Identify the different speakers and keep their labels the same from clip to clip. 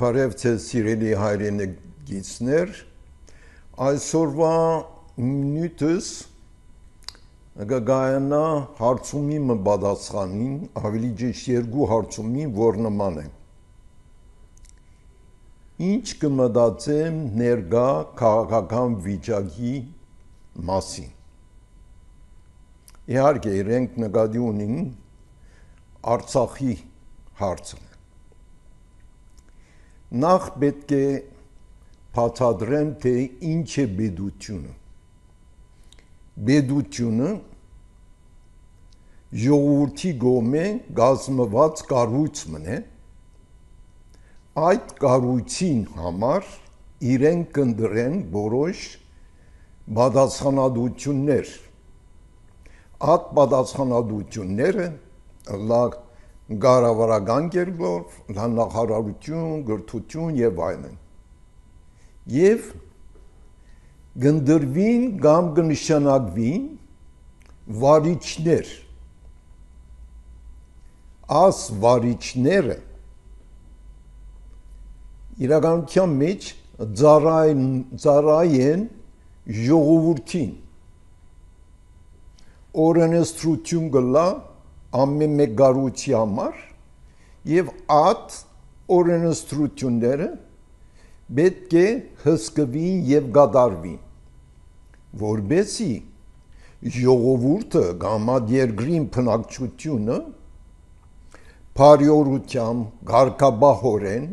Speaker 1: Բարև ձեզ սիրելի հայրենիքներ, այսօրվա նյութս գայանա հարցումի մբադասխանին, ավելի ճիշտ երկու հարցումի, որ նման է։ Ինչ կմտածեմ ներկա քաղաքական վիճակի մասին։ Իհարկե, իրենք նկատի ունին Արցախի հարցը։ Նախ պետք է բացատրեմ, թե ինչ է պետությունը։ Պետությունը ժողովրդի կողմէ կազմված կառույցն է։ Այդ կառույցին համար իրենք կընտրեն որոշ պատասխանատվություններ։ Այդ պատասխանատվությունները կառավարական կերպով, նախարարություն, գրթություն եւ այլն։ Եվ կընտրվին կամ կնշանակվին վարիչներ։ Այս վարիչները իրականության մեջ ծառայեն ժողովրդին։ Օրենսդրություն կլա ամեն մեկ կառույցի համար եւ այդ օրենսդրությունները պետք է հսկվին եւ կատարվին, որբեսի ժողովուրդը կամ այդ երկրին բնակչությունը բարյորությամբ, կարգապահորեն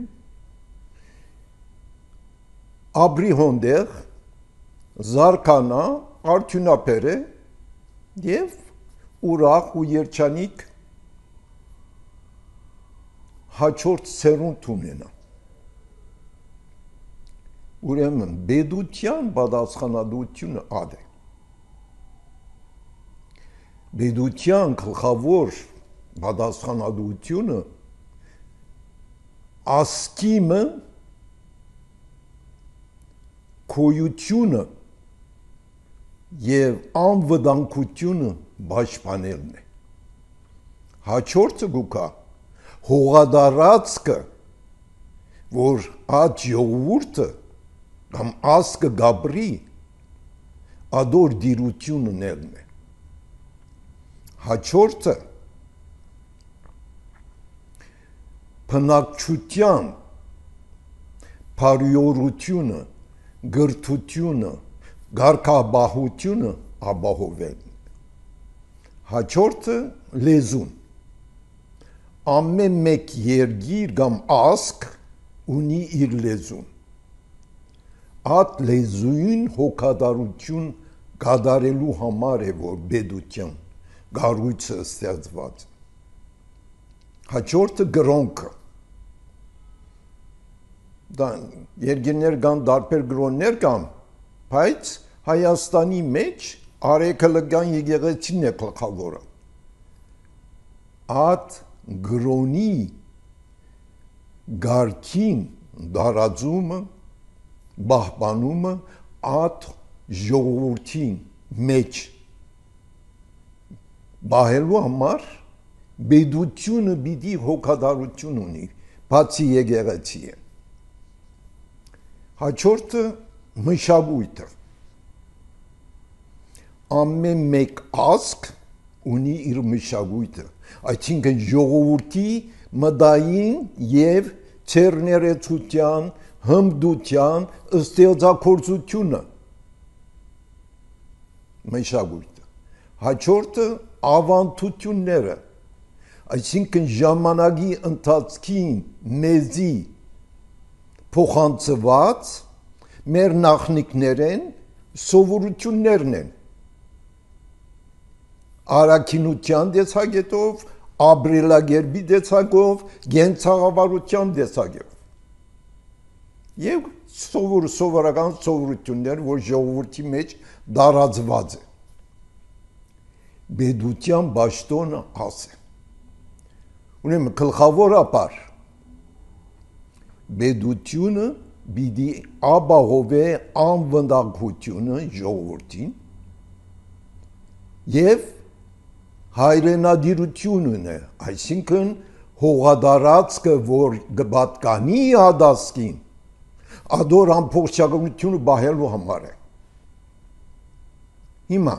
Speaker 1: ապրի հոնդեղ, զարգանա, արդյունաբեր է եւ ուրախ ու երջանիկ հաջորդ սերունդ ունենա։ Ուրեմն պետության պատասխանատվությունը ад է։ Պետության գլխավոր պատասխանատվությունը ասկիմը քոյությունը եւ անվտանգությունը պաշտպանելն է։ Հաջորդը գուկա հողադարածքը, որ այդ ժողովուրդը կամ ասկը գաբրի ադոր դիրություն ունելն է։ Հաջորդը բնակչության բարյորությունը, գրթությունը, կարգապահությունը ապահովելն է։ Հաջորդը լեզուն։ Ամեն մեկ երկիր կամ ասկ ունի իր լեզուն։ Այդ լեզուին հոգատարություն կատարելու համար է, որ պետության կառույցը ստեղծված։ Հաջորդը գրոնքը։ Երկիրներ կան, տարբեր գրոններ կան, բայց Հայաստանի մեջ արեգակնային եկեղեցին է գլխավորը։ Այդ գրոնի գարքին դարաձումը, պահպանումը այդ ժողովրդին մեջ բահելու համար պետությունը պիտի հոգատարություն ունի, բացի եկեղեցի է։ Հաջորդը մշակույթը։ Ամեն մեկ ազգ ունի իր մշակույթը, այսինքն ժողովրդի մտային եւ ցերներեցության, հմտության, ստեղծագործությունը մշակույթը։ Հաջորդը ավանդությունները, այսինքն ժամանակի ընթացքին մեզի փոխանցված մեր նախնիկներեն սովորություններն են։ Արաքինության տեսակետով, ապրելակերպի տեսակով, գենցաղավարության տեսակետով։ Եվ սովորական սովորություններ, որ ժողովրդի մեջ տարածված է։ Պետության պաշտոնը աս է։ Ուրեմն գլխավորաբար պետությունը պիտի ապահովե անվտանգությունը ժողովրդին եւ հայրենադիրություն ունե, այսինքն հողադարածքը որ գբատկանի ադասկին ադոր ամբողջականությունը բահելու համար է հիմա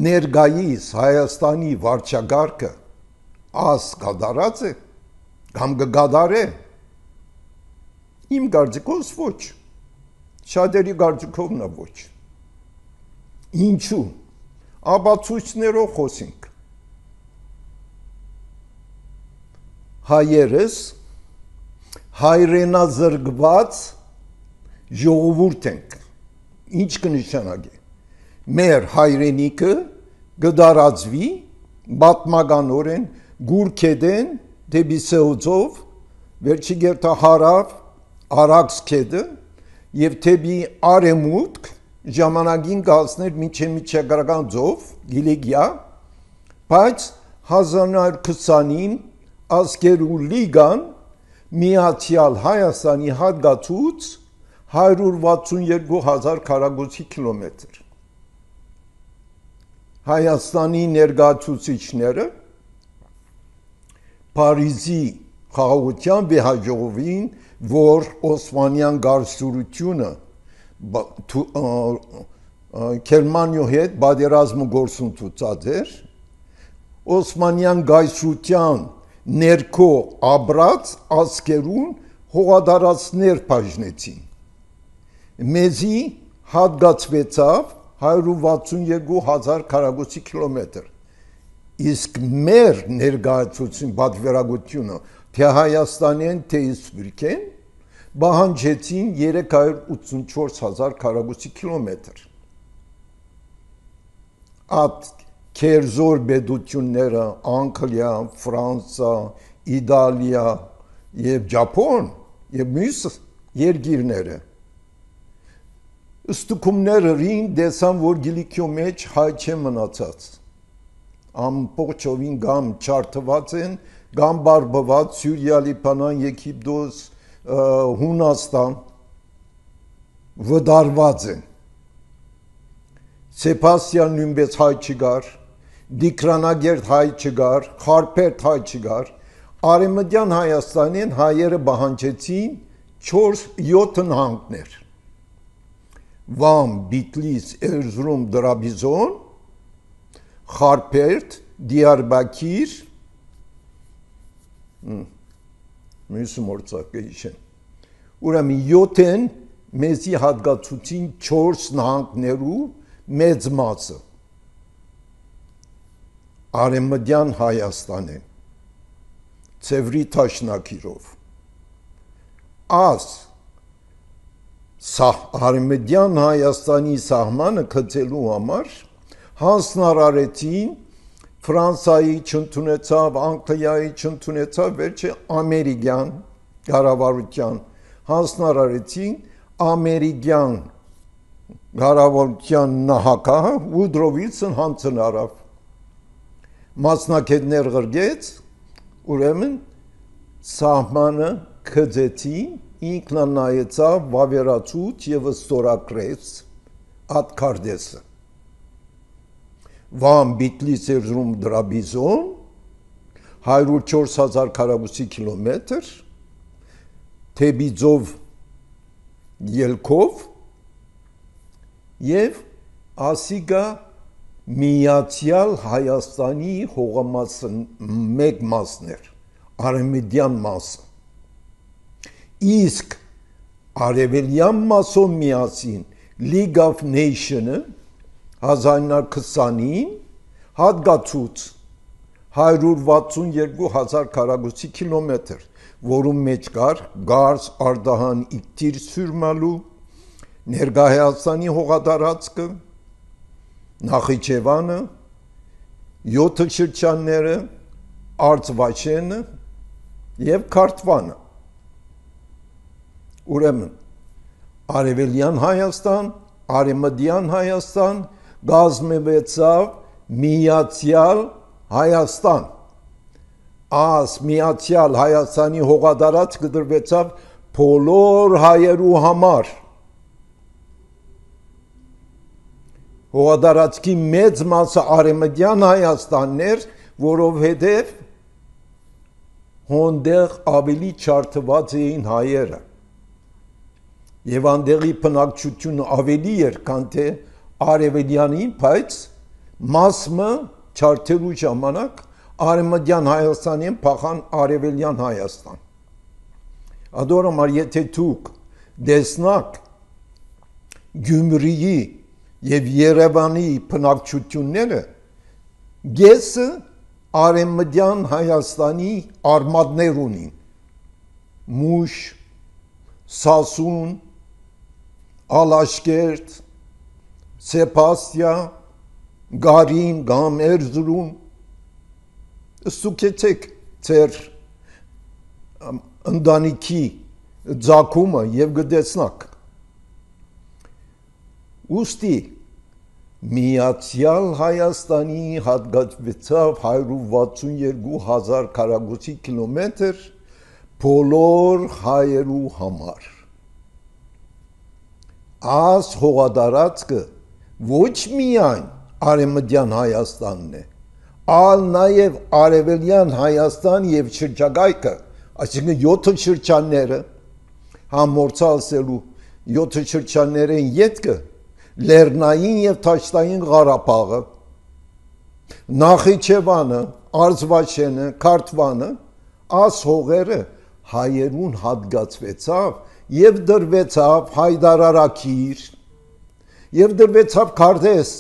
Speaker 1: ներգայիս Հայաստանի վարչագահը աս գադարած է կամ գադարե իմ կարծիքով ոչ շատերի կարծիքով նա ոչ ինչու ապացույցներով խոսենք հայերս հայրենազրկված ժողովուրդ ենք ինչ կնշանակի մեր հայրենիքը գդարածվի բատմականորեն գուրքեդեն դեպի սեուձով վերջի գերտա հարավ արաքս քեդը եւ դեպի արեմուտք ժամանակին կհասներ միջեգրական ձով գիլիգիա բայց 1920-ին ազգերու լիգան միացյալ Հայաստանի հատկացուց 162,000 քառակուսի կիլոմետր Հայաստանի ներկայացուցիչները Փարիզի խաղաղության վեհաժողովին որ Օսմանյան գարսուրությունը Գերմանիայի հետ պատերազմը գործընթացած էր Օսմանյան գայսրության ներքո ապրած ազգերուն հողադարածներ բաժնեցին մեզի հատկացվեցավ 162,000 քառակուսի կիլոմետր իսկ մեր ներկայացուցին պատվիրակությունը թե Հայաստանեն թե Սփյուռքեն բահանջեցին 384,000 քառակուսի կիլոմետր at քերզոր բեդությունները Անգլիա, Ֆրանսա, Իտալիա եւ Ճապոն եւ մյուս երկիրները Ստուկումները ռին դեսան որ գիլիքյո մեջ հայ չէ մնացած ամբողջովին գամ չարթված են գամ բարբված Սյուրիա, Լիբանան, Եգիպտոս, Հունաստան վդարված են Սեբաստիան նույնպես հայ չգար Դիկրանագերտ հայ չգար Խարփերտ հայ չգար Արեմտյան Հայաստանին հայերը բահանջեցին 4-7 նահանգներ Վամ, Բիտլիս, Էրզրում, Դրաբիզոն, Խարփերտ, Դիարբաքիր, մյուսը մորցակը իշեն, ուրեմն 7-են մեզի հատկացուցին 4 նահանգներու մեծ մասը, Արեմտյան Հայաստան է, Ցևրի Թաշնակիրով, Աս, Արեմտյան Հայաստանի սահմանը գծելու համար հանձնարարեցին Ֆրանսիայի չընդունեցավ, Անգլիայի չընդունեցավ, վերջը ամերիկյան կառավարության հանձնարարեցին ամերիկյան կառավարության նահանգը Վուդրո Վիլսոն հանձնարարավ մասնակիցներ գրգեց ուրեմն սահմանը գծեցին ինքնանայեցավ վավերացուց և ստորագրեց ատքարդեսը Վամ Բիտլիս Էրզրում Դրաբիզոն 104,000 քառակուսի կիլոմետր թեպի ձով ելքով և ասիգա միացյալ Հայաստանի հողամասը մեկ մասներ արեմտյան մասը իսկ արևելյան մասով միասին League of Nations-ը 1920-ին հատկացուց 162,000 քառակուսի կիլոմետր, որում մեջ կար Գարս, Արդահան, Իգտիր, Սյուրմալու, ներկա Հայաստանի հողատարածքը, Նախիջևանը, 7 շրջանները, Արցվաշենը և Քարթվանը։ Ուրեմն Արևելյան Հայաստան, Արեմտյան Հայաստան գազմվեցավ միացյալ Հայաստան։ Աս միացյալ Հայաստանի հողատարած կդրվեցավ բոլոր հայերու համար։ Հողատարածքի մեծ մասը Արեմտյան Հայաստանն էր, որովհետև հոնդեղ ավելի չարթված էին հայերը եւ անդեղի բնակչությունը ավելի էր քան թե արևելյանին, բայց մասը չարթելու ժամանակ արևմտյան Հայաստանին փախան արևելյան Հայաստան։ Ադորոմար եթե դուք դեսնակ Գյումրիի եւ Երևանի բնակչությունները գեսը արևմտյան Հայաստանի արմատներ ունին Մուշ, Սասուն, Ալաշկերտ, Սեփաստիա, Գարին, Գամ, Էրզրում ստուգեցեք ձեր ընտանիքի ձակումը եւ գտեցնակ ուստի Միացյալ Հայաստանի հատկացվեցավ 162,000 քառակուսի կիլոմետր բոլոր հայերու համար Աս հողատարածքը ոչ միայն արևմտյան Հայաստանն է ալ նաև արևելյան Հայաստան եւ շրջակայքը այսինքն 7 շրջանները համորցալսելու 7 շրջաններեն յետքը Լեռնային եւ Թաշտային Ղարաբաղը Նախիջևանը Արզվաշենը Քարթվանը աս հողերը հայերուն հատկացվեցավ եւ դրվեցավ Հայդարարակիր եւ դրվեցավ Քարդես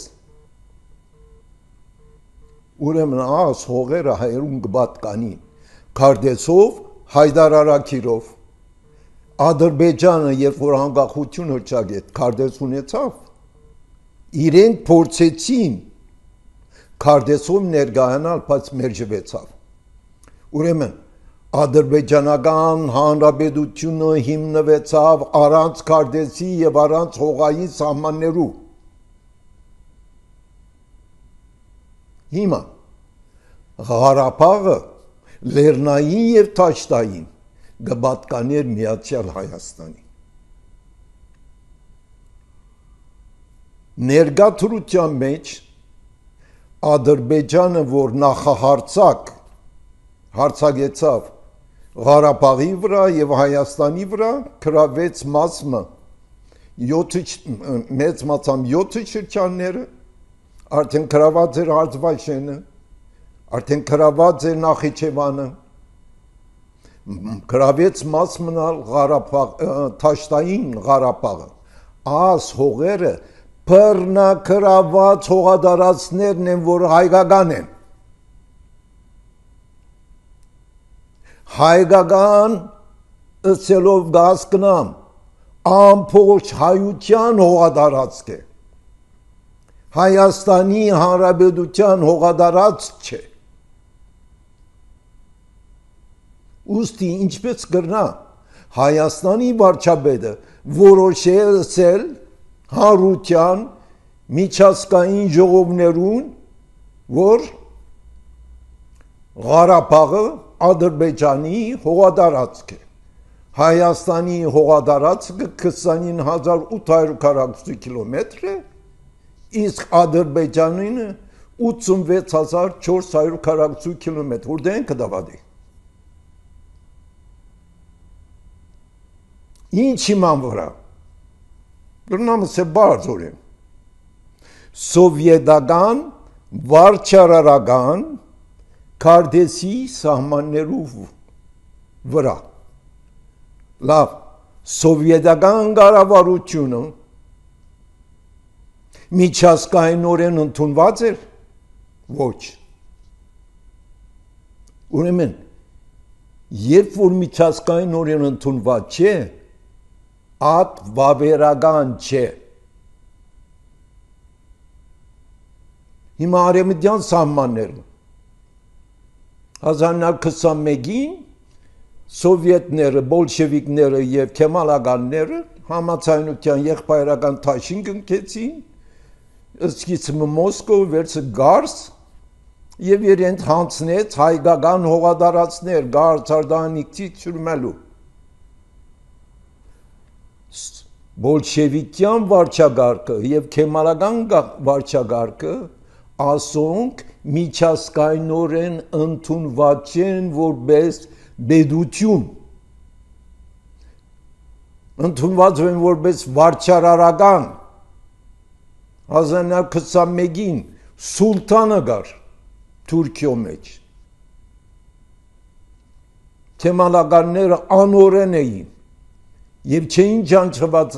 Speaker 1: ուրեմն աս հողերը հայերուն կպատկանին Քարդեսով Հայդարարակիրով Ադրբեջանը երբ որ անկախություն հռչակեց Քարդես ունեցավ իրենք փորձեցին Քարդեսով ներկայանալ բայց մերժվեցավ ուրեմն Ադրբեջանական հանրապետությունը հիմնվեցավ առանց Քարդեսի եւ առանց հողային սահմաններու հիմա Ղարաբաղը Լեռնային եւ Թաշտային գպատկաներ Միացյալ Հայաստանի ներկա թրության մեջ Ադրբեջանը որ հարձակեցավ Ղարաբաղի վրա եւ Հայաստանի վրա գրավեց մասը 7 շրջանները արդեն գրաված էր Արզվաշենը արդեն գրաված էր Նախիջևանը գրավեց մաս մնալ Թաշտային Ղարաբաղը աս հողերը բռնակրաված հողատարածքներն են որ հայկական են հայկական ըսելով գասկնամ ամբողջ հայության հողատարածք է Հայաստանի Հանրապետության հողատարածք չէ ուստի ինչպես կրնա Հայաստանի վարչապետը որոշել հանրության միջազգային ժողովներուն որ Ղարաբաղը Ադրբեջանի հողատարածք է Հայաստանի հողատարածքը 29800 քառակուսի կիլոմետր է իսկ Ադրբեջանինը 86400 քառակուսի կիլոմետր որտեղ են կդավադի ինչ իման վրա Գրնամս է բարձորեն սովետական վարչարարական Քարդեսի սահմաններով վրա լավ սովետական կառավարությունը միջազգայինորեն ընդունված էր ոչ ուրեմն երբ որ միջազգայինորեն ընդունված չէ ատ վավերական չէ հիմա արևմտյան սահմանները 1921-ին սովետները, բոլշևիկները եւ քեմալականները համացայնության եղբայրական թաշին կնքեցին, սկիզբը Մոսկով վերցը Գարս եւ իրենք հանցնեց հայկական հողատարածքներ Գարս Արտահանիկցի ճուրմելու։ Բոլշևիկյան վարչագարկը եւ քեմալական վարչագարկը ասոնք միջազգայինորեն ընդունված են որպես բեդություն ընդունված են որպես վարչարարական 1921-ին սուլտանը գար Թուրքիո մեջ թեմանականները անօրեն էին եւ չէին ջանչված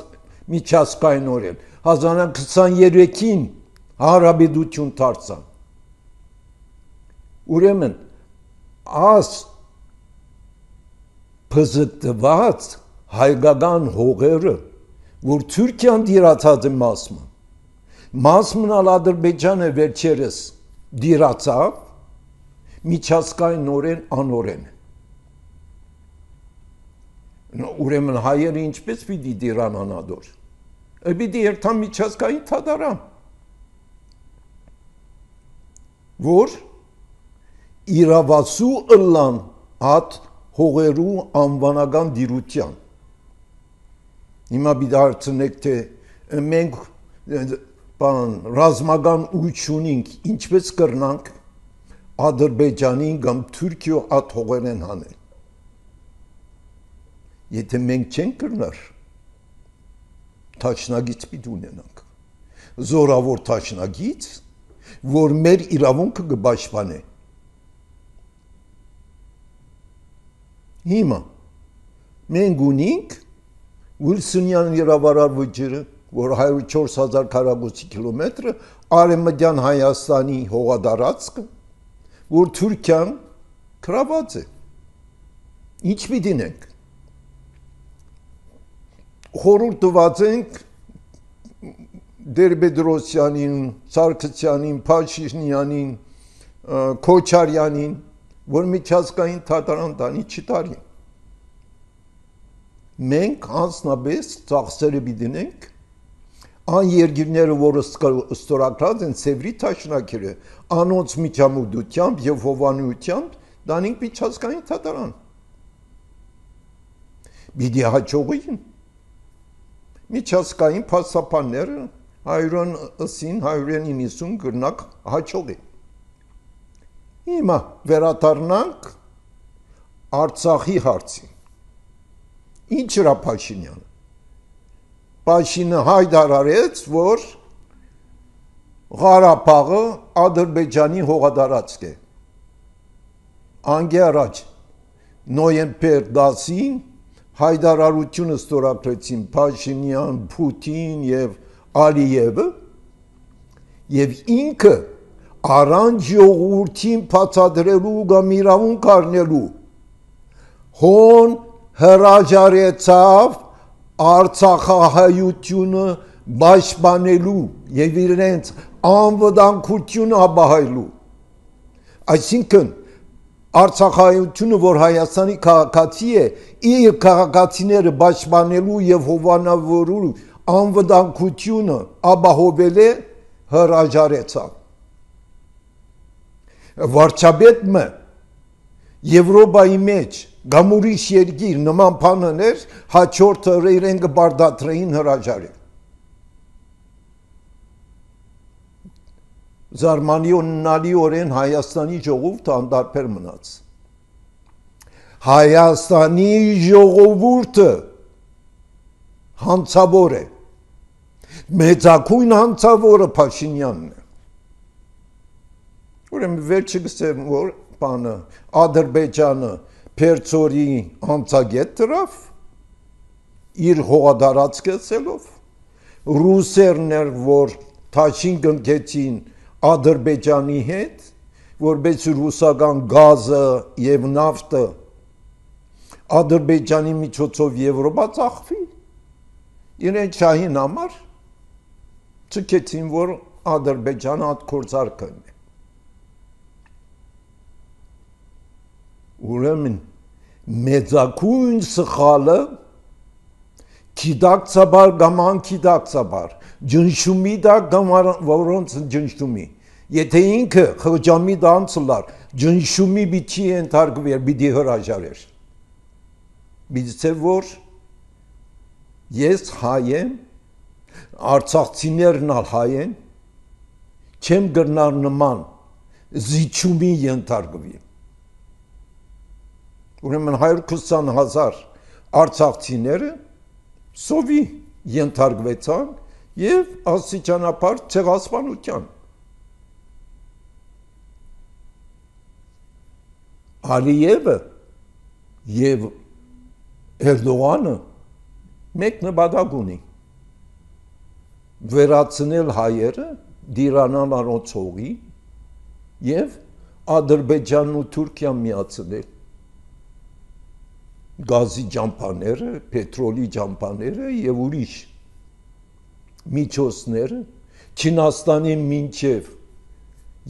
Speaker 1: միջազգայինորեն 1923-ին հարաբերություն դարձան ուրեմն աս փզկված հայկական հողերը որ Թուրքիան դիրացած է մասմն Ադրբեջանը վերջերս դիրացավ միջազգայինորեն անօրեն ուրեմն հայերը ինչպես պիտի դիրան անադոր պիտի երթան միջազգային թադարան որ իրավասու ըլլան հատ հողերու անվանական դիրության հիմա պիտի հարցնեք թե մենք ռազմական ուժ ունենք ինչպես կրնանք Ադրբեջանին կամ Թուրքիո հատ հողերեն հանել եթե մենք չենք կրնար թաշնագից պիտի ունենանք զորավոր թաշնագից որ մեր իրավունքը կպաշտպանե հիմա մենք ունենք Վիլսոնյան իրավարար վճիռը որ 104,000 քառակուսի կիլոմետրը արևմտյան Հայաստանի հողադարածքը որ Թուրքիան գրաված է ինչ պիտի նենք խորհուրդ տված ենք Տեր-Պետրոսյանին, Սարգսյանին, Փաշինյանին, Քոչարյանին, որ միջազգային թատարան տանի չտարի։ Մենք անձնապես ծախսերը պիտինենք, այն երկիրները, որ ստորագրած են Սևրի թաշնակերը, անոնց միջամուտությամբ եւ հովանությամբ տանենք միջազգային թատարան։ Պիտի հաջողին միջազգային փաստաբանները 190 գրնակ հաջողի։ Հիմա վերադառնանք Արցախի հարցին։ Ինչ էր Փաշինյանը։ Փաշինը հայտարարեց, որ Ղարաբաղը Ադրբեջանի հողադարածք է։ Անգե առաջ նոյեմբեր 10-ին հայտարարությունը ստորագրեցին Փաշինյան, Պուտին եւ Ալիևը եւ ինքը առանց ժողովրդին բացատրելու կամ իրավունք առնելու հոն հրաժարեցավ Արցախահայությունը պաշտպանելու եւ իրենց անվտանգությունը ապահովելու այսինքն Արցախայությունը որ Հայաստանի քաղաքացի է իր քաղաքացիները պաշտպանելու եւ հովանավորելու անվտանգությունը ապահովել է հրաժարեցավ վարչապետը Եվրոպայի մեջ գամուրիշ երկիր նման բաներ հաջորդը իրեն կբարդատրեին հրաժարել զարմանալիորեն Հայաստանի ժողովուրդը անդարբեր մնաց Հայաստանի ժողովուրդը հանցավոր է մեծակույն հանցավորը Փաշինյանն է ուրեմն վերջը գսեմ որ բանը Ադրբեջանը Պերցորի անցագետ դրավ իր հողադարածքեցելով ռուսերն էր որ թաշին գնքեցին Ադրբեջանի հետ որպես ռուսական գազը եւ նավթը Ադրբեջանի միջոցով Եվրոպա ծախվի իրեն շահին համար չկեցին որ Ադրբեջանը այդ կորցարկն է ուրեմն մեծակույն սխալը Կիդակցաբար կամ անկիդակցաբար ջնշումի դա կամ որոնց ջնշումի եթե ինքը խոջամի դանցլար ջնշումի բիչի ենթարկվեր բիդի հրաժարեր բիծե որ ես հայ եմ արցախցիներն ալ հայ են չեմ գրնար նման զիջումի ենթարկվի ուրեմն 120,000 արցախցիները սովի ենթարկվեցան եւ աստիճանաբար ցեղասպանության։ Ալիևը եւ Էրդողանը մեկ նպատակ ունի՝ վերացնել հայերը դիրանալ առողջողի եւ Ադրբեջանն ու Թուրքիան միացնել գազի ճամփաները, պետրոլի ճամփաները եւ ուրիշ միջոցները Չինաստանի մինչև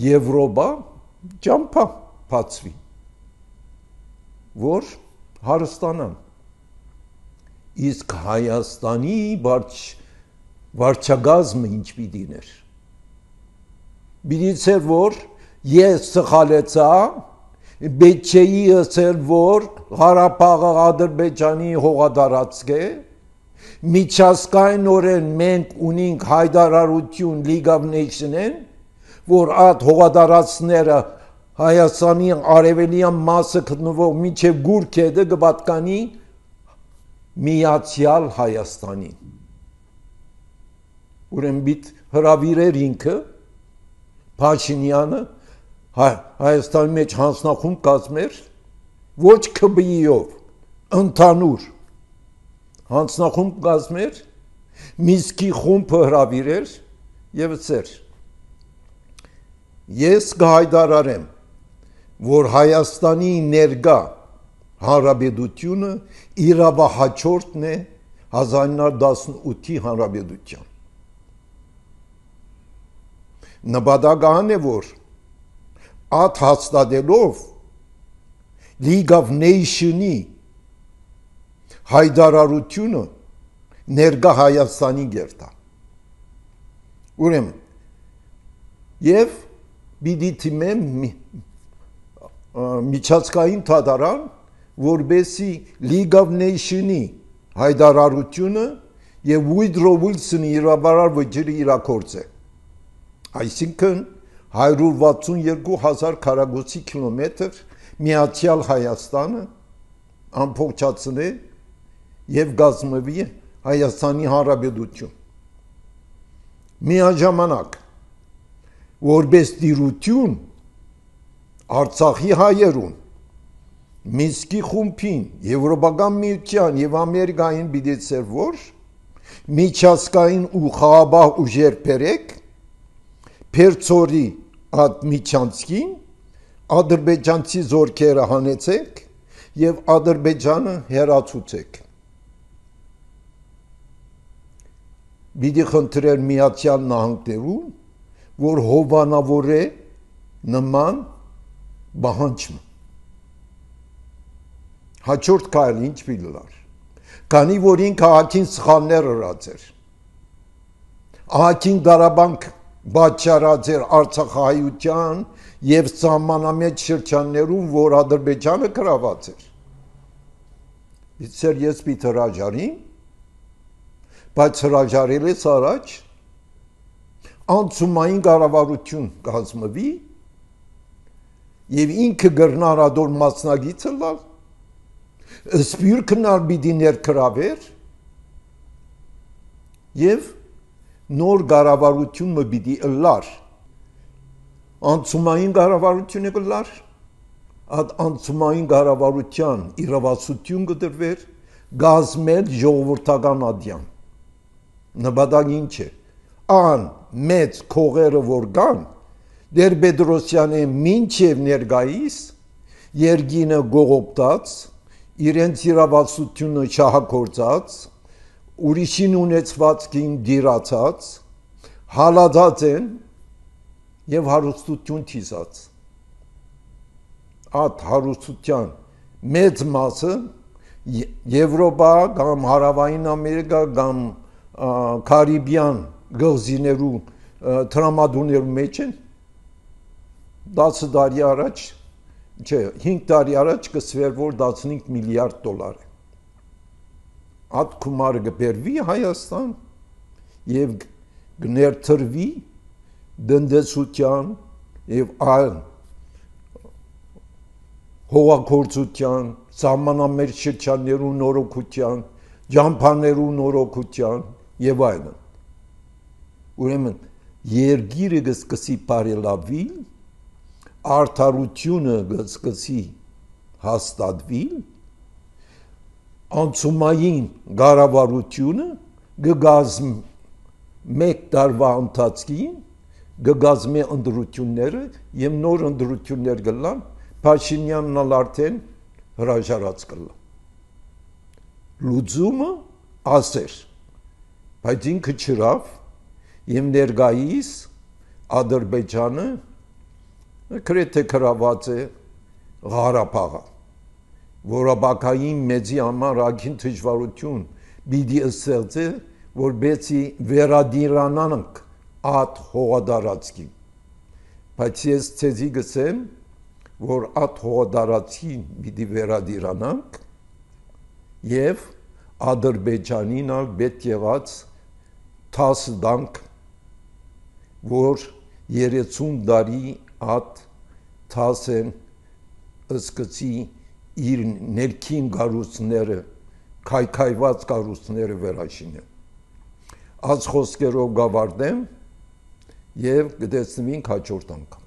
Speaker 1: Եվրոպա ճամփա բացվի, որ հարստանան։ Իսկ Հայաստանի վարչագազմը ինչ պիտիներ։ Պիտի որ ես սխալեցա, պետք չէի ասել, որ Ղարաբաղը Ադրբեջանի հողատարածք է, միջազգայինորեն մենք ունենք հայտարարություն League of Nations-ն, որ այդ հողատարածքները Հայաստանի արևելյան մասը գտնվող մինչև Գուրքեդը կպատկանի Միացյալ Հայաստանին։ Ուրեմն պիտի հրավիրեր ինքը Փաշինյանը Հայաստանի մեջ հանձնախումբ կազմեր ոչ ԿԲԻ-ով, ընդհանուր հանձնախումբ կազմեր, Մինսկի խումբը հրավիրեր եւ ծեր։ Ես կհայտարարեմ, որ Հայաստանի ներկա հանրապետությունը իրավահաջորդն է 1918-ի հանրապետության։ Նպատակն է, որ այդ հաստատելով League of Nations-ի հայտարարությունը ներկա Հայաստանի գերտա։ Ուրեմն եւ պիտի թիմեմ միջազգային դատարան, որբեսի League of Nations-ի հայտարարությունը եւ Woodrow Wilson-ի իրավարար վճիռը իրագործե։ Այսինքն 162,000 քառակուսի կիլոմետր Միացյալ Հայաստանը ամբողջացնե եւ գազմվի Հայաստանի Հանրապետություն։ Միաժամանակ որպես դիրություն Արցախի հայերուն Մինսկի խումբին, Եվրոպական միության եւ Ամերիկային բիդեցեր, որ միջազգային ու խաղաղ ուժեր բերեք Պերցորի այդ միջանցքին ադրբեջանցի զորքերը հանեցեք եւ Ադրբեջանը հերացուցեք։ Բիդի խնդրեր Միացյալ Նահանգներուն, որ հովանավորե նման բանջը։ Հաջորդ քայլը ինչ պիտի։ Քանի որ ինքը ահագին սխալներ արած էր։ Ահագին դարաբանք բաճարած էր Արցախահայության եւ սահմանամեջ շրջաններում, որ Ադրբեջանը գրաված էր։ Իսկ ես պիտի հրաժարիմ, բայց հրաժարելուց առաջ անցումային կառավարություն կազմվի եւ ինքը գրնարադոր մասնագիծը լավ սպյուրքնար պիտի ներգրավեր եւ նոր կառավարությունը պիտի ըլլար անցումային կառավարությունը կլար այդ անցումային կառավարության իրավասություն կդրվեր գազմել ժողովրդական ադյան նպատակը ինչ է ան մեծ քողերը որ կան Տեր-Պետրոսյանի մինչև ներկայիս երկինը գողոպտած իրենց իրավասությունը շահագործած ուրիշին ունեցվածքին դիրացած հալածած են եւ հարստություն թիզած այդ հարստության մեծ մասը Եվրոպա կամ Հարավային Ամերիկա կամ Կարիբյան գազիներու տրամադուներու մեջ են 10 տարի առաջ չէ 5 տարի առաջ կսվեր որ 15 միլիարդ դոլար է Այդ գումարը կբերվի Հայաստան եւ կներթրվի դնդեսության եւ այլ հողագործության, սահմանամերձ շրջաններու նորոգության, ջամփաներու նորոգության եւ այլն։ Ուրեմն երկիրը կսկսի բարելավի, արդարությունը կսկսի հաստատվի, անցումային կառավարությունը կգազմի մեկ տարվա ընթացքին կգազմի ընտրությունները եւ նոր ընտրություններ կլան, Փաշինյանն արդեն հրաժարած կլա։ Լուծումը ասեր, բայց ինքը չրավ եւ ներկայիս Ադրբեջանը գրեթե գրաված է Ղարաբաղը, որաբակային մեծի համար ակին դժվարություն պիտի ստեղծի, որբեցի վերադիրանանք այդ հողադարածքին։ Բայց ես ցեզի գսեմ, որ այդ հողադարածքին պիտի վերադիրանանք եւ Ադրբեջանին ալ պետք եղած 10 դանք, որ 30 տարի այդ 10-ն ըսկացի իր ներքին գարուսները, քայքայված գարուսները վերաշինեն։ Այս խոսքերով գավարտեմ եւ կտեսնվենք հաջորդ անգամ։